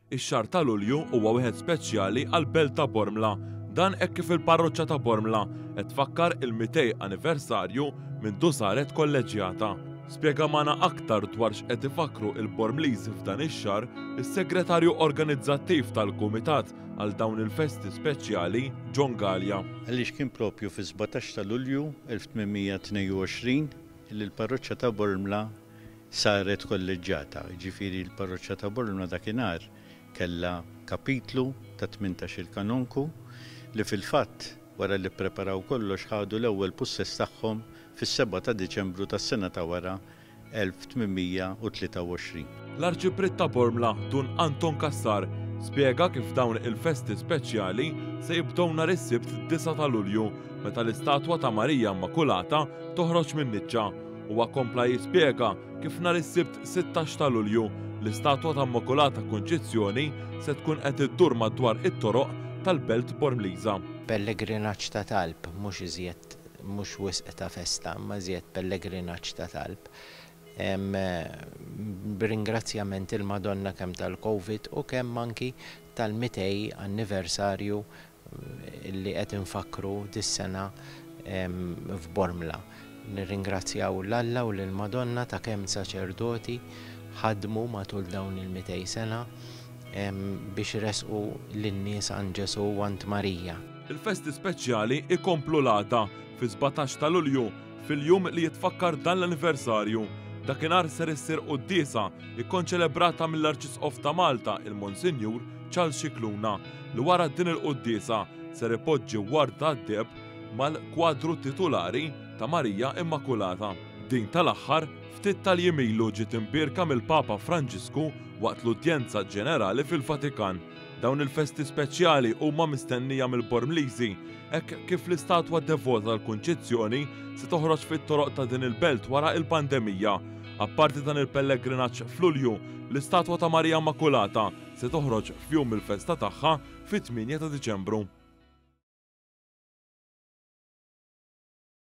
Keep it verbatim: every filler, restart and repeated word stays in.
Ix-xahar ta' Lulju huwa wieħed speċjali għall-belt ta' Bormla. Dan hekk kif il-parroċċa ta' Bormla qed tfakkar il-mitej anniversarju mindu saret kolleġġjata. Spjega magħna aktar dwar x'qed ifakkru il-Bormliżi f'dan ix-xahar is-segretarju organizzattiv tal-Kumitat għal dawn il-festi speċjali, John Galea. Għaliex kien propju fi sbatax ta' Lulju elf tmien mija tnejn u għoxrin li l-parroċċa ta' Bormla saret kolleġġjata. Ġifieri l-parroċċa ta' Bormla dakinhar kellha kapitlu ta' tmintax-il kanonku li fil-fatt wara li ppreparaw kollox ħadu l-ewwel pussess tagħhom fis-sebgħa ta' Diċembru tas-sena ta' wara elf tmien mija u tlieta u għoxrin. L-Arċipriet ta' Bormla, Dun Anton Cassar, spjega kif dawn il-festi speċjali se jibdew nhar is-Sibt disa' ta' Lulju meta l-istatwa ta' Marija Immakulata toħroġ minn niċċa. Huwa kompla jispjega kif nhar is-Sibt sittax ta' Lulju l-istatwa ta' Immakulata Kunċizzjoni se tkun qed iddur madwar it-toroq tal-Belt Bormliża. Pellegrinaġġ ta' talb, mhux iżjed, mhux wisq ta' festa, imma iżjed pellegrinaġġ ta' talb. Em, b'ringrazzjament il-Madonna kemm tal-Covid u kemm anki tal-mitej anniversarju li qed infakkru dis-sena, em, f'Bormla. Nirringrazzjaw l-Alla u lill-Madonna ta' kemm saċerdoti ħadmu matul dawn il-mitej sena, em, biex resqu lin-nies għand Ġesu u għand Marija. Il-festi speċjali ikomplu l-għada fi sbatax ta' Lulju, fil-jum li jitfakkar dan l-anniversarju. Dakinhar ser issir quddiesa ikkonċelebrata mill-Arċisqof ta' Malta, il-Monsinjur Charles Scicluna, li wara din il-quddiesa ser ipoġġi warda d-deheb mal-kwadru titulari ta' Marija Immakulata. Din tal-aħħar ftit tal-jiem ilu ġiet imbierka mill-Papa Franġisku waqt l-udjenza ġenerali fil-Vatikan. Dawn il-festi speċjali huma mistennija mill-Bormliżi, hekk kif l-istatwa devota tal-Kunċizzjoni se toħroġ fit-toroq ta' din il-belt wara il-pandemija. Apparti dan il-pellegrinaġġ f'Lulju, l-istatwa ta' Marija Immakulata se toħroġ f'jum il-festa tagħha fit-tmienja ta' Diċembru.